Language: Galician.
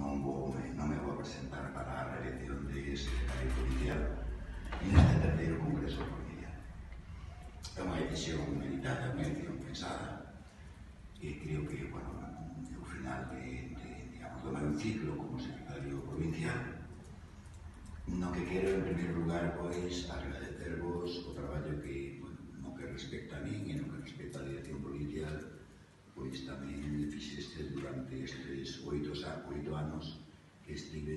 non me vou a presentar para a reelección de secretario provincial neste terceiro congreso provincial. É unha decisión meditada, unha decisión pensada, e creo que, bueno, o final do meu ciclo como secretario provincial, no que quero, en primeiro lugar, pois, agradecervos o traballo que, bueno, no que respecta a min e no que respecta a dirección provincial, pois tamén fixeste durante estes 8 anos que estive